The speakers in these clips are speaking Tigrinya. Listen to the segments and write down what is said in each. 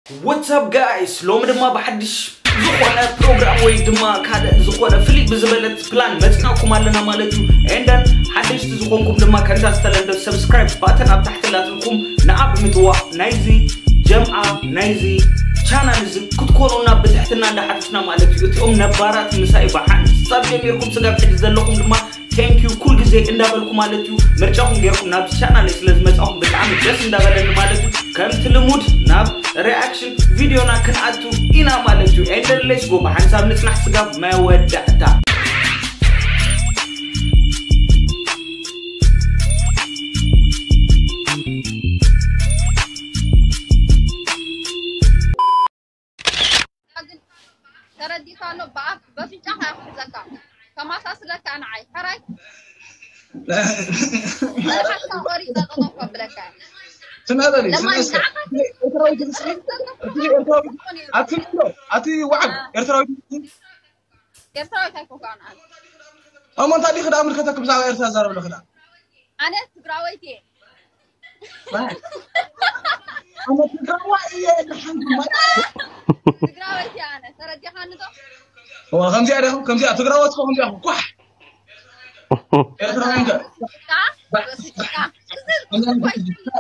What's up guys? ሎሚ ድማ ብሓድሽ ዝኾነ ፕሮግራም ወይ ድማ ካልእ ዝኾነ ፍልይ ብዝበለት ፕላን መጽናኩም ኣለና ማለት እዩ። And then ሓደሽቲ ዝኾንኩም ድማ ከምታ ዝተለምደ ሰብስክራይብ ባተን ኣብ ታሕቲ ላትልኩም ንዓ ብምትዋእ ናይዚ ጀምዓ ናይዚ ቻናል እዚ ክትኮኑና ብትሕትና እንዳሓተትና ማለት እዩ። እቲኦም ነባራት ምሳይ ብሓንሳብ ጀሚርኩም ስጋብ ሕጂ ዘለኹም ድማ thank you ኩል ግዜ እንዳበልኩ ማለት እዩ። ምርጫኹም ጌርኩም ናብዚ ቻናል ስለ ዝመጻኹም ብጣዕሚ ደስ እንዳበለኒ ማለት እዩ። ከምቲ ልሙድ ናብ ሪኣክሽን ቪድዮና ክንኣቱ ኢና ማለት እዩ። And then let's go ብሓንሳብ ንጽናሕ ስጋብ መወዳእታ። ተረዲእካ ኣሎ። ብኣፍ በፍንጫኻ እየ ክሕዘካ፣ ከማሳስለካ ንዓይ ሕራይ። መልሓስካ ቆሪፀ ጠጠው ከብለካ እየ። ስማበሊ ለማኒ ስማስከ ንዓኻ ኤርትራዊ ድምፂ እቲ ኤርትራዊ ኣቲ ምንዶ ኣቲ ዋዕል ኤርትራዊ ድምፂ ኤርትራዊት ኣይኮንካ ንዓይ። እሞ እንታይ ዲኺ ደኣ ምልከተክ ብዛዕባ ኤርትራ ዛረብ ኣለኺ ደኣ ኣነ ትግራወይቲ እየ። ኣነ ትግራዋ እየ ድሓን ድማ ትግራወይቲ እየ ኣነ። ተረዲኻኒ ዶ? ከምዚኣ ዲኹም ከምዚኣ ትግራዋ ትኾ ከምዚኣ ኳሕ ኤርትራዊ እንተ በስጭቃ በስጭቃ። እዚ እኮ ኣይፈልጥን።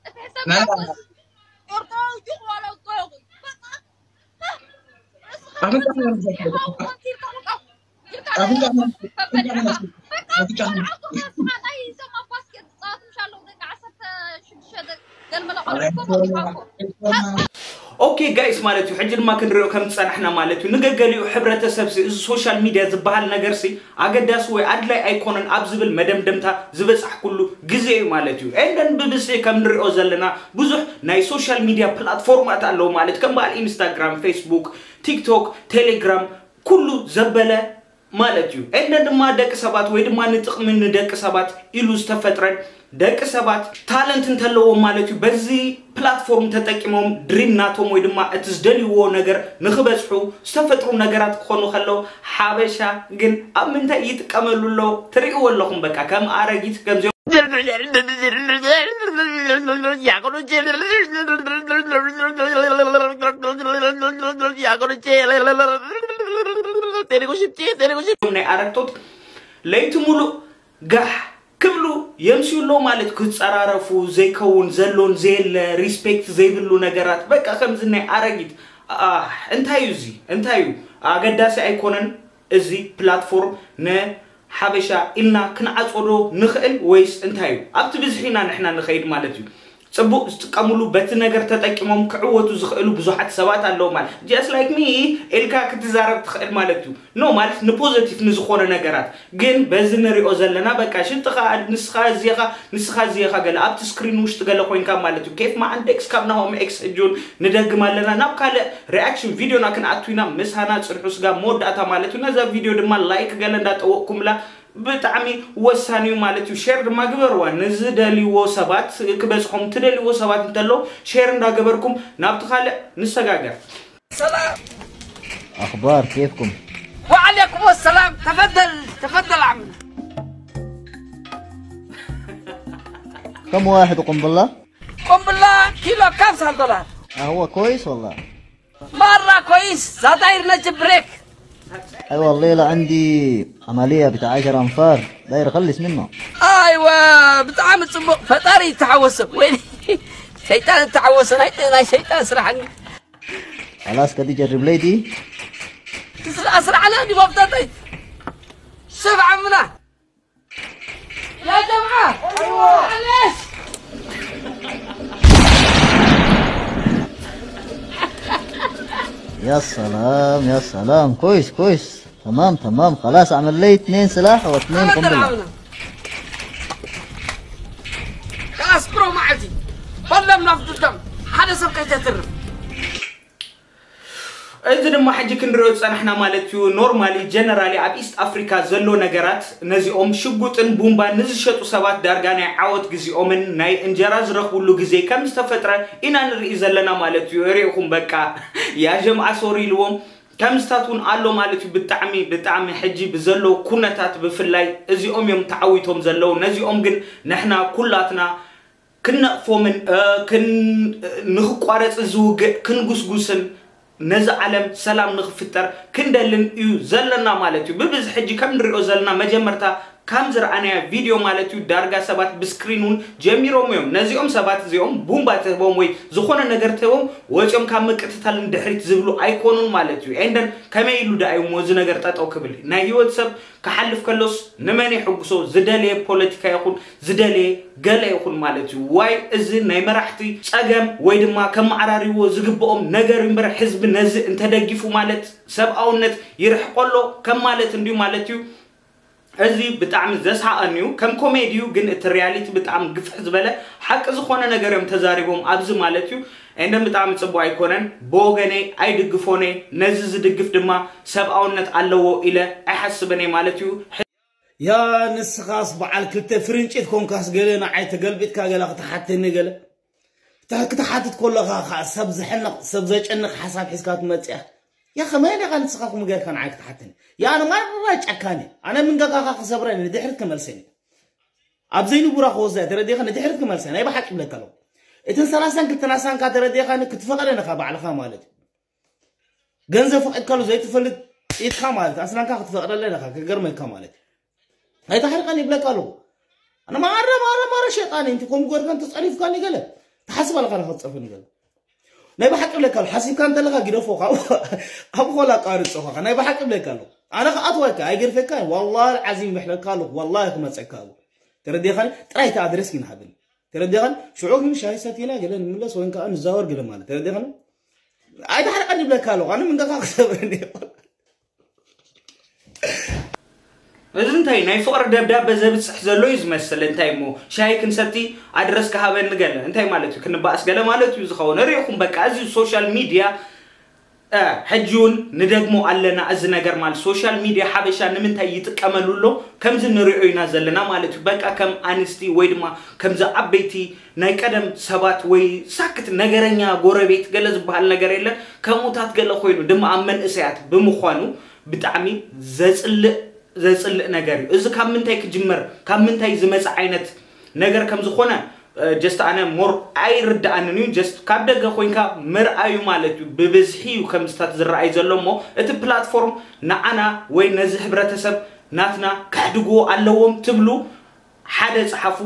እቲ ሕሰብ ናይ ዳቦ ኤርትራዊ ዲኹ ዋላ እኮ ይኹን። በቃ ኣፍንጫ ከመርዘካ ኣፍንጫ ከመርዘካ ኦኬ ጋይስ ማለት እዩ። ሕጂ ድማ ክንሪኦ ከም ዝፀናሕና ማለት እዩ። ንገገሊኡ ሕብረተሰብ ሲ እዚ ሶሻል ሚድያ ዝበሃል ነገር ሲ ኣገዳሲ ወይ ኣድላይ ኣይኮነን ኣብ ዝብል መደምደምታ ዝበፃሕኩሉ ግዜ እዩ ማለት እዩ። And then ብብዝሒ ከም ንሪኦ ዘለና ብዙሕ ናይ ሶሻል ሚድያ ፕላትፎርማት ኣለዉ ማለት ከም በዓል ኢንስታግራም፣ ፌስቡክ፣ ቲክቶክ፣ ቴሌግራም ኩሉ ዘበለ ማለት እዩ። And then ድማ ደቂ ሰባት ወይ ድማ ንጥቕሚ ንደቂ ሰባት ኢሉ ዝተፈጥረን ደቂ ሰባት ታለንት እንተለዎም ማለት እዩ በዚ ፕላትፎርም ተጠቂሞም ድሪም ናቶም ወይ ድማ እቲ ዝደልይዎ ነገር ንኽበፅሑ ዝተፈጥሩ ነገራት ክኾኑ ከለዉ ሓበሻ ግን ኣብ ምንታይ ይጥቀመሉ ኣሎ? ትርእይዎ ኣለኹም በቃ ከም ኣረጊት ከምዚኦም ናይ ኣረግቶት ለይቲ ሙሉእ ጋሕ ክብሉ የምስዩ ኣለዉ ማለት ክፀራረፉ ዘይከውን ዘሎን ዘየለ ሪስፔክት ዘይብሉ ነገራት በቃ ከምዚ ናይ ኣረጊት ኣህ እንታይ እዩ እዚ እንታይ እዩ ኣገዳሲ ኣይኮነን እዚ ፕላትፎርም ንሓበሻ ኢልና ክንዓፅዎ ዶ ንኽእል ወይስ እንታይ እዩ ኣብቲ ብዝሒ ኢና ንሕና ንኸይድ ማለት እዩ ፅቡቕ ዝጥቀምሉ በቲ ነገር ተጠቂሞም ክዕወቱ ዝኽእሉ ብዙሓት ሰባት ኣለዉ ማለት just like me ኢልካ ክትዛረብ ትኽእል ማለት እዩ no ማለት ንፖዘቲቭ ንዝኾነ ነገራት ግን በዚ ንሪኦ ዘለና በቃ ሽንጥኻ ንስኻ እዚኻ ንስኻ እዚኻ ገለ ኣብቲ ስክሪን ውሽጢ ገለ ኮይንካ ማለት እዩ ኬፍ መዓንደክስ ካብ ናሆም ኤክስ ሕጂ እውን ንደግም ኣለና ናብ ካልእ ሪኣክሽን ቪድዮና ክንኣቱ ኢና ምሳና ፅንሑ ስጋብ መወዳእታ ማለት እዩ ነዛ ቪድዮ ድማ ላይክ ገለ እንዳጠወቕኩምላ ብጣዕሚ ወሳኒ እዩ ማለት እዩ ሼር ድማ ግበርዋ ንዝደልይዎ ሰባት ክበፅሖም ትደልይዎ ሰባት እንተሎ ሼር እንዳገበርኩም ናብቲ ካልእ ንሰጋገር ሰላም أخبار كيفكم؟ وعليكم السلام تفضل تفضل عمنا كم واحد قنبلة؟ قنبلة كيلو كبسة دولار آه، هو كويس والله. مرة كويس زطاير نجيب بريك أيوة، الليلة عندي عملية بتاع عشر أنفار، داير أخلص منه. ايوه بتعامل صبو فطاري تعوسه وين شيطان تعوسه هاي شيطان سرحني خلاص كده جرب لي دي. اسرع اسرع على اني وفدتي شوف عمنا يا جماعه ايوه معلش يا سلام، يا سلام، كويس كويس. تمام تمام، خلاص أعمل لي اتنين سلاح واتنين تفضل قنبلة. عمنا خلاص برو معلتي فلم نفض الدم حدا سبقيت ترم እዚ ድማ ሕጂ ክንሪኦ ዝፀናሕና ማለት እዩ normally generally ኣብ east africa ዘሎ ነገራት ነዚኦም ሽጉጥን ቡምባን ንዝሸጡ ሰባት ዳርጋ ናይ ዓወት ግዜኦምን ናይ እንጀራ ዝረኽብሉ ግዜ ከም ዝተፈጥረ ኢና ንርኢ ዘለና ማለት እዩ ሪኢኹም በቃ ያ ጀምዓ ሶሪ ኢልዎም ከምዝታት እውን ኣሎ ማለት እዩ ብጣዕሚ ብጣዕሚ ሕጂ ብዘለዉ ኩነታት ብፍላይ እዚኦም እዮም ተዓዊቶም ዘለዉ ነዚኦም ግን ንሕና ኩላትና ክንነቕፎምን እ፣ ክን ንኽቋረጽ ዝውግእ ክንጉስጉስን ነዚ ዓለም ሰላም ንኽፍጠር ክንደልን እዩ ዘለና ማለት እዩ። ብብዝሒ ሕጂ ከም ንሪኦ ዘለና መጀመርታ ከም ዝረኣናዮ ቪድዮ ማለት እዩ፣ ዳርጋ ሰባት ብስክሪን እውን ጀሚሮም እዮም። ነዚኦም ሰባት እዚኦም ቡምባ ትህቦም ወይ ዝኾነ ነገር ትህቦም፣ ወፂኦም ካብ ምቅትታል ንድሕሪት ዝብሉ ኣይኮኑን ማለት እዩ። ኤንደን ከመይ ኢሉ ደኣ እዩ እሞ እዚ ነገር ጠጠው ክብል? ናይ ህይወት ሰብ ክሓልፍ ከሎስ ንመን የሕጉሶ? ዝደለየ ፖለቲካ ይኹን ዝደለየ ገለ ይኹን ማለት እዩ። ዋይ፣ እዚ ናይ መራሕቲ ጸገም ወይ ድማ ከመዓራርይዎ ዝግብኦም ነገር እምበር፣ ህዝቢ ነዚ እንተደጊፉ ማለት ሰብኣውነት ይርሕቆ ኣሎ ከም ማለት እንድዩ ማለት እዩ። እዚ ብጣዕሚ ዘስሓቐኒ እዩ። ከም ኮሜዲ እዩ፣ ግን እቲ ሪያሊቲ ብጣዕሚ ግፍሕ ዝበለ ሓቂ ዝኾነ ነገር እዮም ተዛሪቦም ኣብዚ ማለት እዩ። ኤንደን ብጣዕሚ ጽቡቕ ኣይኮነን። ብወገነይ ኣይድግፎን እየ። ነዚ ዝድግፍ ድማ ሰብኣውነት ኣለዎ ኢለ ኣይሓስብን እየ ማለት እዩ። ያ ንስኻስ በዓል ክልተ ፍርንጭት ኮንካስ ገለ ንዓይ ተገልቢጥካ ገለ ክትሓተኒ ገለ። እታ ክትሓትት ከለኻ ኸዓ ሰብ ዘሕንቕ፣ ሰብ ዘጨንቕ ሓሳብ ሒዝካ ትመጽእ ኢኻ። ያ ከመይ ኢኻ ንስኻ ከምኡ ጌርካ ንዓይ ክትሓተኒ? ያ ኣነ ማራ ጨካን እየ። ኣነ መንገጋኻ ክሰብረኒ ንድሕሪት ክመልሰኒ። ኣብ ዘይንቡራ ክወስዳ እየ፣ ተረዲእኻ? ንድሕሪት ክመልሰ ናይ ብሓቂ ይብለካ ኣለኹ። እተን ሰላሳን ክልተን ኣሳንካ ተረዲእኻኒ ክትፈቕደን ኢኻ ባዕልኻ ማለት እዩ። ገንዘብ ፈቒድካሉ ዘይትፈልጥ ኢድካ ማለት ኣስናንካ ክትፈቕደለን ኢኻ፣ ክገርመካ ማለት እዩ። ኣይተሕርቀን ይብለካ ኣለኹ። ኣነ ማረ ማረ ማረ ሸጣን እንቲ ከምኡ ገርካ እንተጸሪፍካኒ ገለ ትሓስብ ኣለኻ፣ ንኸትጸርፈኒ ገለ ናይ ብሓቂ ይብለካ ኣለኹ። ሓሲብካ እንተለኻ ግደፎ፣ ካብ ኣብ ኾላ ኣቃርጾ ኸዓ ናይ ብሓቂ ይብለካ ኣለኹ። ኣነ ክኣትወካ ኣይገድፈካ፣ ወላሂ ዓዚም ይብለካ ኣለኹ። ወላሂ ክመጸካ ኣለኹ። ተረዲኻኒ? ጥራይ እቲ ኣድረስ ግን ሃብኒ። ተረዲኻኒ? ሽዑ ግን ሻሂ ሰቲና ገለ ንምለስ ወይን ከዓ ንዛወር ገለ ማለት። ተረዲኻኒ? ኣይተሕርቀን ይብለካ ኣለኹ። ኣነ መንገኻ ክሰብረኒ እዩ። እዚ እንታይ ናይ ፍቕሪ ደብዳበ ዘብጽሕ ዘሎ እዩ ዝመስል። እንታይ እሞ ሻሂ ክንሰቲ ኣድረስ ክሃበኒ ገለ እንታይ ማለት እዩ? ክንበኣስ ገለ ማለት እዩ ዝኸውን። ርኢኹም በቃ እዚ ሶሻል ሚድያ እ፣ ሕጂ እውን ንደግሞ ኣለና። እዚ ነገር ማለት ሶሻል ሚድያ ሓበሻ ንምንታይ ይጥቀመሉ ኣሎ? ከምዚ ንሪኦ ኢና ዘለና ማለት እዩ። በቃ ከም ኣንስቲ ወይ ድማ ከምዚ ዓበይቲ ናይ ቀደም ሰባት ወይ ሳክት ነገረኛ ጎረቤት ገለ ዝበሃል ነገር የለን። ከምኡታት ገለ ኮይኑ ድማ ኣብ መንእሰያት ብምዃኑ ብጣዕሚ ዘጽልእ ዘጽልእ ነገር እዩ። እዚ ካብ ምንታይ ክጅመር፣ ካብ ምንታይ ዝመጽእ ዓይነት ነገር ከም ዝኾነ ጀስት ኣነ ሞር ኣይርድኣንን እዩ። ጀስት ካብ ደገ ኮይንካ ምርኣዩ ማለት እዩ። ብብዝሒ እዩ ከምዝታት ዝረኣይ ዘሎ እሞ እቲ ፕላትፎርም ንዓና ወይ ነዚ ሕብረተሰብ ናትና ከሕድግዎ ኣለዎም ትብሉ ሓደ ጸሓፉ፣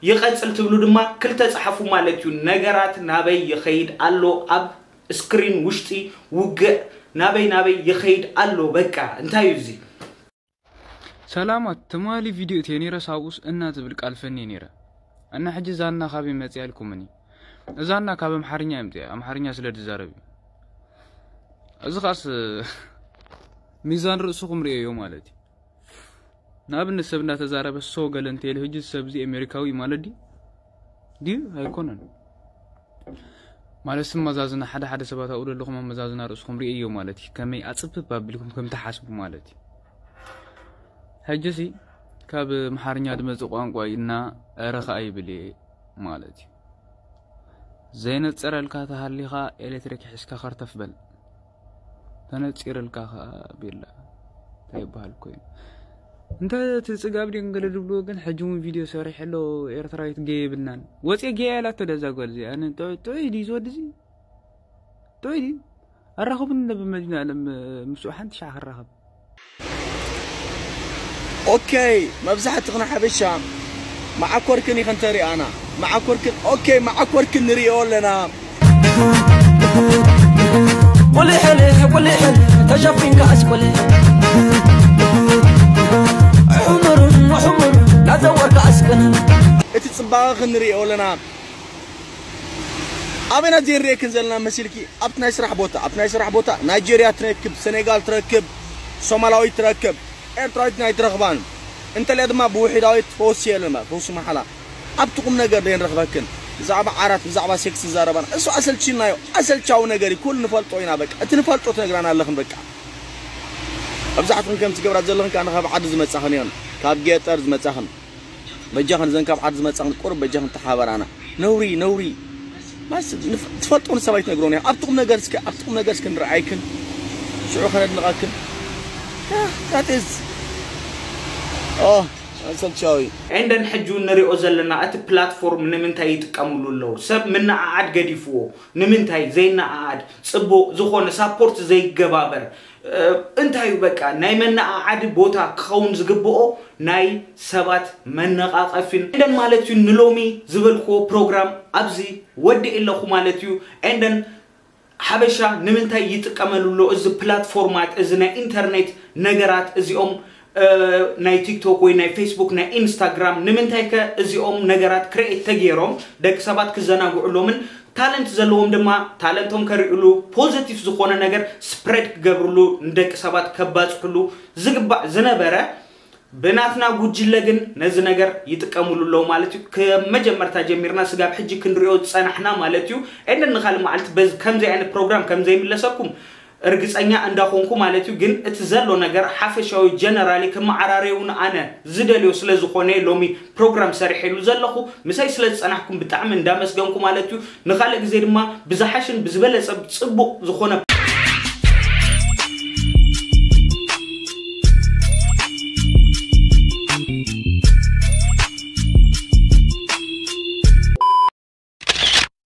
ይቐጽል ትብሉ ድማ ክልተ ጸሓፉ ማለት እዩ። ነገራት ናበይ ይኸይድ ኣሎ? ኣብ ስክሪን ውሽጢ ውግእ ናበይ ናበይ ይኸይድ ኣሎ? በቃ እንታይ እዩ እዚ? ሰላማት ትማሊ ቪድዮ እትየ ነይረ ሳብኡስ እና ትብል ቃል ፈኒ ነይረ። እና ሕጂ ዛና ካበይ መጽያ ኢልኩምኒ? እዛና ካብ ኣምሓርኛ እየ ምጽያ፣ ኣምሓርኛ ስለ ዝዛረብ እዩ። እዚ ኻስ ሚዛን ርእስኹም ርእየዮ ማለት እዩ። ንኣብነት ሰብ እንዳተዛረበ ሶ ገለ እንተይሉ ሕጂ እዚ ሰብ እዚ ኣሜሪካዊ ማለት ድዩ? ድዩ ኣይኮነን። ማለት ስም መዛዝና ሓደ ሓደ ሰባት ኣብኡ ዘለኹም ኣመዛዝና ርእስኹም ርእየዮ ማለት እዩ። ከመይ ኣጽብብ ኣቢልኩም ከም ትሓስቡ ማለት እዩ። ሕጂ ሲ ካብ ኣምሓርኛ ዝመጽእ ቋንቋ እዩ እና ኧረ ኸኣ ይብል እየ ማለት እዩ። ዘይነጸረልካ ተሃሊኻ ኤሌክትሪክ ሒዝካ ከርተፍ በል። ተነጺርልካ ኸኣ ቤላ እንታይ ይበሃል ኮይኑ እንተ እቲ ጽጋብ ድዮም ገለ ዝብልዎ ግን ሕጂ እውን ቪድዮ ሰሪሐ ኣሎ። ኤርትራዊት ገየ የብልናን። ወጽየ ገየ ኢላቶ ደዛ ጓል እዚኣ። ኣነ ጥዑይ ጥዑይ ድዩ ዝወዲ እዚ? ጥዑይ ድዩ? ኣራኽቡኒ እንዶ ብመድኃኔዓለም ምስኡ ሓንቲ ሻዕ ክራኸብ። ኦኬ፣ መብዛሕትኽን ሓበሻ መዓኮርክን ኢኽን ተሪኣና። መዓኮርክን፣ ኦኬ፣ መዓኮርክን ንሪኦ ኣለና። ቁልሕልሕ ቁልሕልሕ ተሸፊንካ ኣስቁልሕ ሕሙሩን ሕሙሩን ናዘወርካ ኣስቅን። እቲ ጽባቐ ክንሪኦ ኣለና። ኣበይና ዘይንሪኤክን ዘለና መሲልኪ? ኣብቲ ናይ ስራሕ ቦታ፣ ኣብቲ ናይ ስራሕ ቦታ ናይጄርያ ትረክብ፣ ሰኔጋል ትረክብ፣ ሶማላዊት ትረክብ፣ ኤርትራዊት ናይ ትረኽባን እንተልያ ድማ ብውሒዳዊት ፈወሲ የለን ማለት ፈውሲ መሓላ። ኣብቲ ቁም ነገር ደየን ረኽበክን ብዛዕባ ዓራት ብዛዕባ ሴክስ ዝዛረባና እሱ ኣሰልችናዮ። ኣሰልቻዊ ነገር እዩ፣ ኩሉ ንፈልጦ ኢና። በቃ እቲ ንፈልጦ ትነግራና ኣለኽን። በቃ መብዛሕትኽን ከምቲ ገብራት ዘለኽን ከኣ ካብ ዓዲ ዝመጻኽን እዮን፣ ካብ ገጠር ዝመጻኽን። በጃኽን እዘን ካብ ዓዲ ዝመጻኽን ቁሩብ በጃኽን ተሓባራና። ነውሪ ነውሪ ማስ ንፍ- ትፈልጦ ንሰብ ኣይትነግሮን እያ። ኣብቲ ቁም ነገር እስከ ኣብቲ ቁም ነገር እስከ ንረኣይክን ሽዑ ከነድንቐክን። ያ፣ that is ኦ ሰልቻዊ። And then ሕጂ ንሪኦ ዘለና እቲ platform ንምንታይ ይጥቀምሉ ኣለዉ? ሰብ ምንዓዓድ ገዲፍዎ ንምንታይ ዘይነዓዓድ? ጽቡቕ ዝኾነ support ዘይገባበር እንታይ እዩ? በቃ ናይ መነዓዓዲ ቦታ ክኸውን ዝግብኦ ናይ ሰባት መነቓቐፊን። And then ማለት እዩ ንሎሚ ዝበልክዎ ፕሮግራም ኣብዚ ወዲእ ኣለኹ ማለት እዩ። And then ሓበሻ ንምንታይ ይጥቀመሉ ኣሎ እዚ ፕላትፎርማት፣ እዚ ናይ ኢንተርኔት ነገራት እዚኦም? ናይ ቲክቶክ ወይ ናይ ፌስቡክ፣ ናይ ኢንስታግራም ንምንታይ ከ እዚኦም ነገራት ክሬኤት ተገይሮም ደቂ ሰባት ክዘናግዕሎምን ታለንት ዘለዎም ድማ ታለንቶም ከርእሉ ፖዘቲቭ ዝኾነ ነገር ስፕሬድ ክገብርሉ ንደቂ ሰባት ከባፅሕሉ ዝግባእ ዝነበረ ብናትና ጉጅለ ግን ነዚ ነገር ይጥቀምሉ ኣለዉ ማለት እዩ። ከመጀመርታ ጀሚርና ስጋብ ሕጂ ክንሪኦ ዝፀናሕና ማለት እዩ። And then ንካልእ መዓልቲ በዚ ከምዚ ዓይነት ፕሮግራም ከምዘይምለሰኩም እርግፀኛ እንዳኾንኩ ማለት እዩ። ግን እቲ ዘሎ ነገር ሓፈሻዊ ጀነራሊ ክመዓራረዩን ኣነ ዝደልዮ ስለ ዝኾነ ሎሚ ፕሮግራም ሰሪሐሉ ዘለኹ ምሳይ ስለ ዝፀናሕኩም ብጣዕሚ እንዳመስገንኩ ማለት እዩ። ንካልእ ግዜ ድማ ብዝሓሽን ብዝበለፀ ፅቡቕ ዝኾነ